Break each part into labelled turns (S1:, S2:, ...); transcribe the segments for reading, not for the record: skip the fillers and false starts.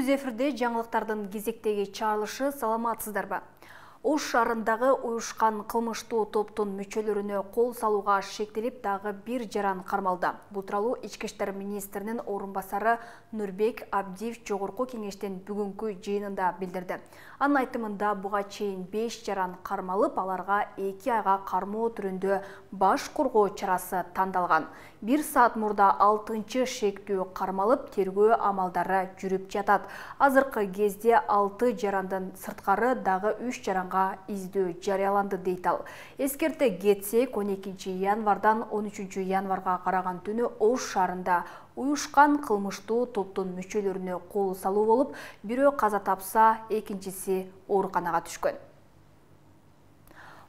S1: Түз эфирде жаңылыктардын кезектеги чыгарылышы. Саламатсыздарбы? Ош шаарындагы уюшкан кылмыштуу топтун мүчөлөрүнө кол салууга шектелип дагы бир жаран кармалды. Бул тууралуу Ички иштер министринин орун басары Нурбек Абдиев жогорку кеңештин бүгүнкү жыйынында билдирди. Анын айтымында буга чейин 5 жаран кармалып, аларга 2 айга кармоо түрүндө баш коргоо чарасы тандалган. 1 саат мурда 6-чы шектүү кармалып, тергөө амалдары жүрүп жатат. Азыркы кезде 6 жарандын сырткары дагы 3 жаранга издөө жарыяланды дейт ал. Эскерте кетсек, 12 январдан 13 январга караган түнү Ош шаарында уюшкан кылмыштуу топтун мүчөлөрүнө кол салуу болуп, бирөө каза тапса, экинчиси ооруканага түшкөн.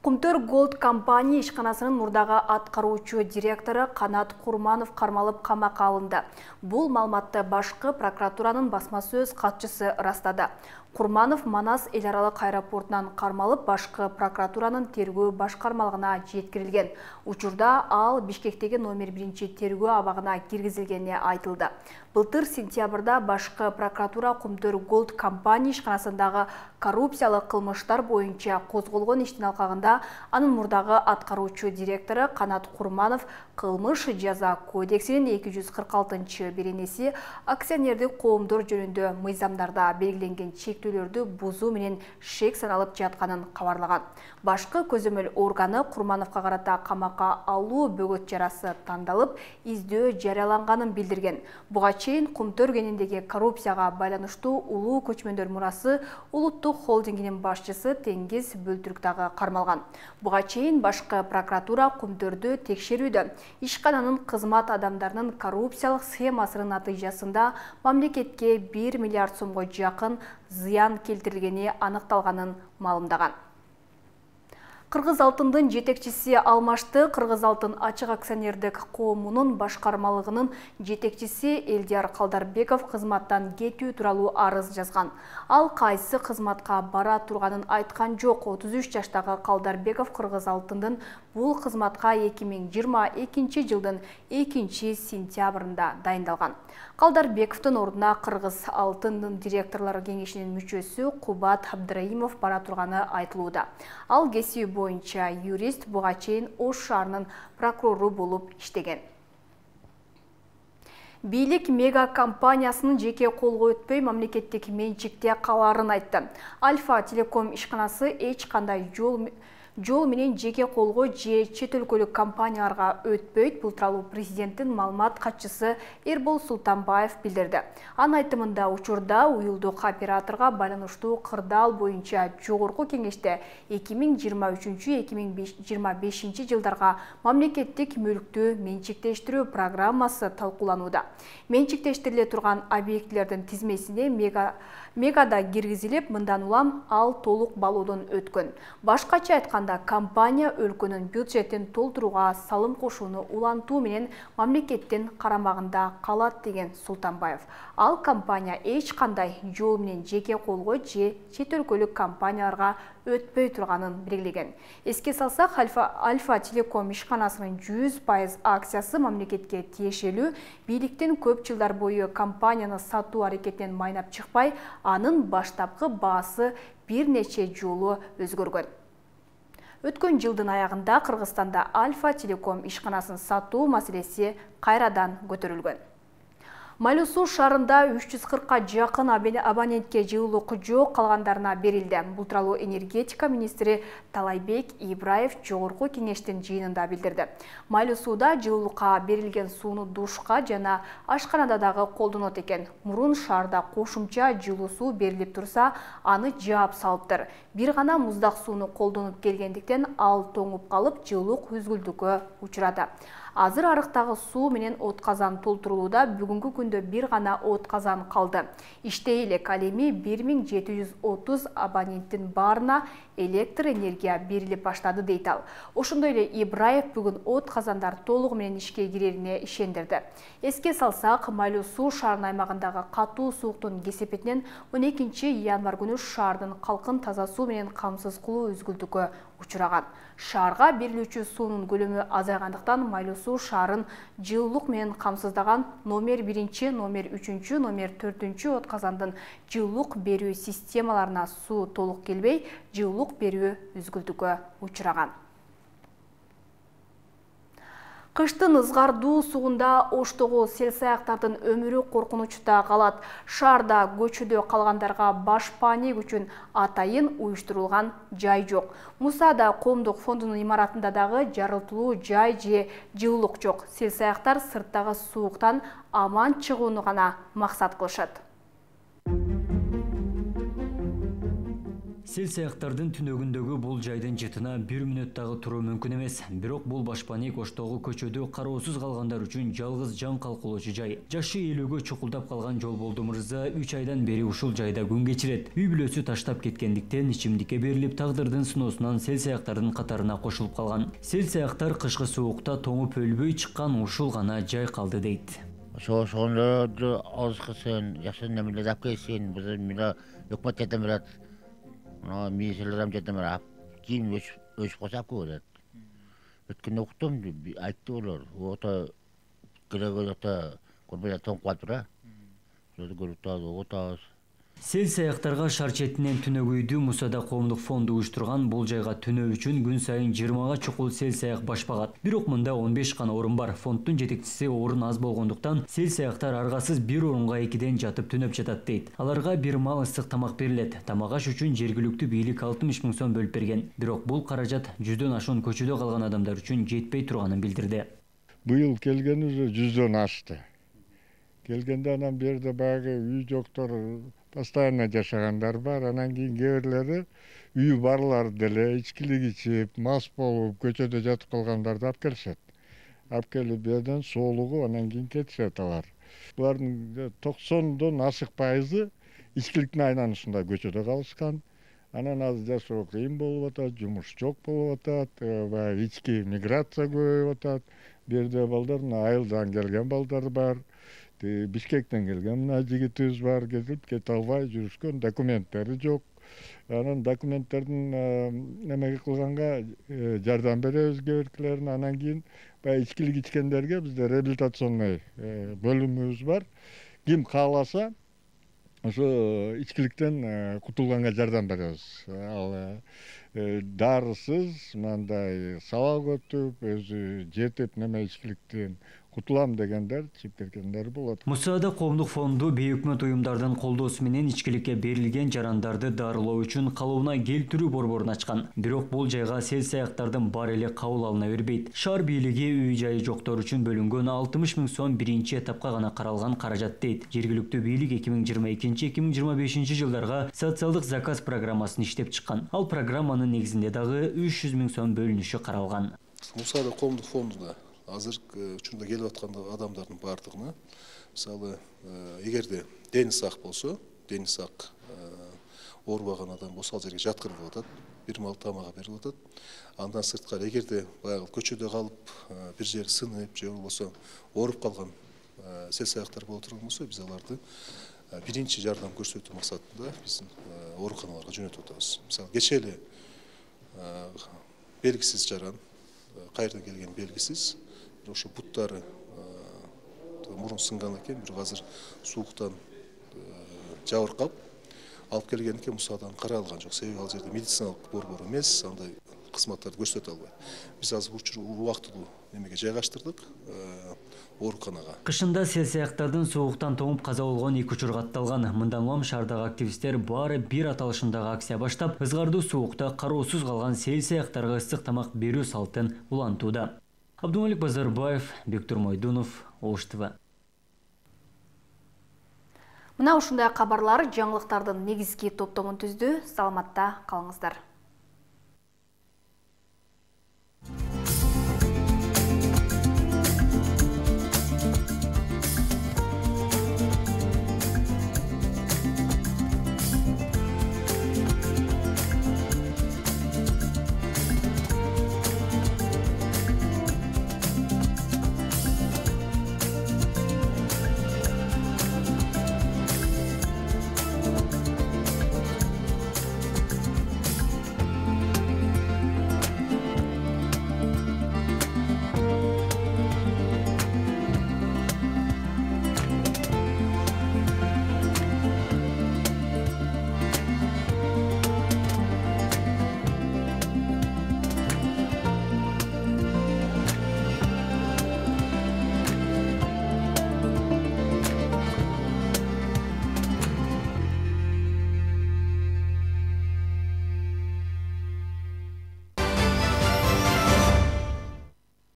S1: Кумтөр Голд компания ишканасынын мурдагы аткаруучу директору Канат Курманов кармалып камакка алынды. Бул маалыматты башкы прокуратуранын басма сөз катчысы ырастады. Курманов Манас эл аралык аэропортунан кармалып, башкы прокуратуранын тергөө башкармалыгына жеткирилген. Учурда ал Бишкектеги номер 1 тергөө абагына киргизилгени айтылды. Былтыр сентябрда башкы прокуратура Кумтөр Голд компания ишканасындагы коррупциялык кылмыштар боюнча козголгон иштин алкагында анын мурдагы аткаруучу директору Канат Курманов кылмыш жаза кодексинин 246-беренеси акционердик коомдор жөнүндө мыйзамдарда белгиленген чектөөлөрдү бузуу менен шек саналып жатканын кабарлаган. Башкы көзөмөл органы Курмановго карата камакка алуу бөгөт чарасы тандалып, издөө жарыяланганын билдирген. Буга чейин Кумтөр кенендеги коррупцияга байланыштуу улуу көчмөндөр мурасы улуттук холдингинин башчысы Теңиз Бөлтүрк дагы кармалган. Буга чейин башкы прокуратура Кумтөрдү текшерүүдө ишкананын кызмат адамдарынын коррупциялык схемасынын натыйжасында мамлекетке 1 миллиард сомго жакын зыян келтирилгени аныкталганын маалымдаган. Кыргыз алтындын жетекчиси Алмашты Кыргыз алтын ачык акционердик коомунун башкармалыгынын жетекчиси Элдияр Калдарбеков кызматтан кетүү тууралуу арыз жазган. Ал кайсы кызматка бара турганын айткан жок. 33 жаштагы Калдарбеков Кыргыз алтындын бул кызматка 2022 жылдын 2-сентябрында дайындалган. Калдарбековдун ордуна Кыргыз алтындын директорлор кеңешинин мүчөсү Кубат Абдраимов бара турганы айтылууда. Ал кесиби боюнча юрист, буга чейин Ош шаарынын прокурору болуп иштеген. Бийлик мега компаниясынын жеке колго өтпөй мамлекеттик менчикте калаарын айтты. Альфа Телеком ишканасы эч кандай жол менен жеке колго же чет өлкөлүк компанияларга өтпөйт. Бул тууралуу президенттин маалымат катчысы Эрбол Султанбаев билдирди. Анын айтымында учурда уюлдук операторго байланыштуу кырдаал боюнча жогорку кеңеште 2023-2025 жылдарга мамлекеттик мүлктү менчиктештирүү программасы талкууланууда. Менчиктештириле турган объектилердин тизмесине мегада киргизилип, мындан улам ал толук балоодон өткөн. Башкача айтканда, компания өлкөнүн бюджетин толтурууга салым кошууну улантуу менен мамлекеттин карамагында калат деген Султанбаев. Ал компания эч кандай жол менен жеке колго же чет өлкөлүк компанияларга өтпөй турганын белгилеген. Эске салсак, Альфа Телеком ишканасынын 100% акциясы мамлекетке тиешелүү. Бийликтин көп жылдар бою компанияны сатуу аракетинен майнап чыкпай, анын баштапкы баасы бир нече жолу өзгөргөн. Өткөн жылдын аягында Кыргызстанда Альфа Телеком ишканасын сатуу маселеси кайрадан көтөрүлгөн. Майлуу Суу шаарында 340-ка жакын абонентке жылуулук жок, калгандарына берилди. Бул тууралуу энергетика министри Талайбек Ибраев жогорку кеңештин жыйынында билдирди. Майлуу Сууда жылуулукка берилген сууну душка жана ашканада дагы колдонот экен. Мурун шаарда кошумча жылуу суу берилип турса, аны жаап салыптыр. Бир гана муздак сууну колдонуп келгендиктен ал тоңуп калып, жылуулук үзгүлтүүгө учурады. Азыр арыктагы суу менен от казан толтурулууда. Бүгүнкү күндө бир гана от казан калды. Иштей элек, ал эми 1730 абоненттин баарына электр энергия берилип баштады дейт ал. Ошондой эле Ибраев бүгүн от казандар толугу менен ишке кирерине ишендирди. Эске салсак, Майлуу Суу шаарынын аймагындагы катуу сууктун кесепетинен 12 январ күнү шаардын калкын таза суу менен камсыз кылуу үзгүлтүүгө учураган. Шаарга берилүүчү суунун көлөмү азайгандыктан Майлуу суу шаарын жылуулук менен камсыздаган номер 1, номер 3, номер 4 отказандын жылуулук берүү системаларына суу толук келбей, жылуулук берүү үзгүлтүккө учураган. Кыштын ызгардуу сугунда Оштогу сел-саяктардын өмүрү коркунучта калат. Шаарда көчөдө калгандарга баш паник үчүн атайын уюштурулган жай жок. Мусада коомдук фондунун имаратында дагы жарылтылуу жай же жылуулук жок. Сел-саяктар сырттагы сууктан аман чыгууну гана максат кылышат.
S2: Сел-саяктардын түнөгүндөгү бул жайдын жытына 1 мүнөт дагы туруу мүмкүн эмес. Бирок бул баш паник Оштогу көчөдө кароосуз калгандар үчүн жалгыз жан калкылоочу жай. Жашы 50-гө чукулдап калган Жолболду мырза 3 айдан бери ушул жайда күн кечирет. Үй бүлөсү таштап кеткендиктен ичимдикке берилип, тагдырдын сыноосунан сел-саяктардын катарына кошулуп калган. Сел-саяктар кышкы суукта тоңуп өлбөй чыккан ушул гана жай калды дейт.
S3: Ошондо азкысын, жакшы немелер алып келсин, биз мына өкмөт жардам берет. Министрлерден жардам берет. Кийин өчүп калса алып келет. Өткөндө уктум, айтты олар. Ото керек көрбөй тоңуп калыптыр. Ошондо көрүп атабыз.
S2: Сел-саяктарга шаар четинен түнөк үйдү Мусада коомдук фонду уюштурган. Бул жайга түнөө үчүн күн сайын 20га чукул сел-саяк баш багат. Бирок мында 15 гана орун бар. Фонддун жетекчиси орун аз болгондуктан сел-саяктар аргасыз бир орунга 2ден жатып түнөп жатат дейт. Аларга бир маал ысык тамак берилет. Тамак аш үчүн жергиликтүү бийлик 60 000 сом бөлүп берген. Бирок бул каражат 100дөн ашуун көчөдө калган адамдар үчүн жетпей турганын билдирди.
S4: Быйыл келген уже 100дөн ашты. Келгенде анан берде баягы үй жоктор постоянно жашагандар бар. Анан кийин кээ бирлери үйү барлар деле ичкилик ичип, мас болуп, көчөдө жатып калгандарды алып келишет. Алып келип берден соолугуп, анан кийин кетишет алар. Булардын 90дон ашык пайызы ичкиликтин айланышында көчөдө калышкан. Анан азыр жашоо кыйын болуп атат, жумуш жок болуп атат, баягы ички миграция көбөйүп атат. Берде балдар айылдан келген балдар бар. Бишкектен келген мына жигитибиз бар, кете албай жүрүшкөн, документтери жок. Анан документтердин немеге кылганга жардам беребиз кээ биркилерине. Анан кийин баягы ичкилик ичкендерге бизде реабилитационный бөлүмүбүз бар. Ким кааласа ошо ичкиликтен кутулганга жардам беребиз. Ал дарысыз мындай сабак өтүп, өзү жетип неме ичкиликтен кутулам дегендер, чиптергендер болот.
S2: Мусада коомдук фонду бейөкмөт уюмдардын колдоосу менен ичкиликке берилген жарандарды дарылоо үчүн калыбына келтирүү борборун ачкан. Бирок бул жайга сел-саяктардын бар эле кабыл алына бербейт. Шаар бийлиги үй жайы жоктор үчүн бөлүнгөн 60 000 сом биринчи этапка гана каралган каражат дейт. Жергиликтүү бийлик 2022-2025 жылдарга социалдык заказ программасын иштеп чыккан. Ал программанын негизинде дагы 300 000 сом бөлүнүшү каралган.
S5: Мусада коомдук фондуна азыркы учурда келип аткан адамдардын баардыгына, мисалы, эгерде дени сак болсо, дени сак оорубаган адам болсо, ал жерге жаткырылып атат, бир маал тамагы берилип атат. Андан сырткары эгерде баягы көчөдө калып, бир жери сынып, же болбосо ооруп калган сел-саяктар боло турган болсо, биз аларды биринчи жардам көрсөтүү максатында биздин ооруканаларга жөнөтүп атабыз. Мисалы, кечээ эле белгисиз жаран, кайерден келгени белгисиз, ошо буттары мурун сынган экен, бирок азыр сууктан жабыркап алып келген экен. Мусадан каралган жок, себеби ал жерде медициналык борбор эмес, андай кызматтарды көрсөтө албайт. Биз азыр убактылуу немеге жайгаштырдык, ооруканага.
S2: Кышында сел-саяктардын сууктан тоңуп каза болгон 2 учур катталган. Мындан улам шаардагы активисттер баары бир аталышындагы акция баштап, ызгардуу суукта кароосуз калган сел-саяктарга ысык тамак берүү салтын улантууда. Абдумалик Базарбаев, Бектур Мойдунов, Ош ТВ.
S1: Мына ушундай кабарлар жаңылыктардын негизги топтомун түздү. Саламатта калыңыздар.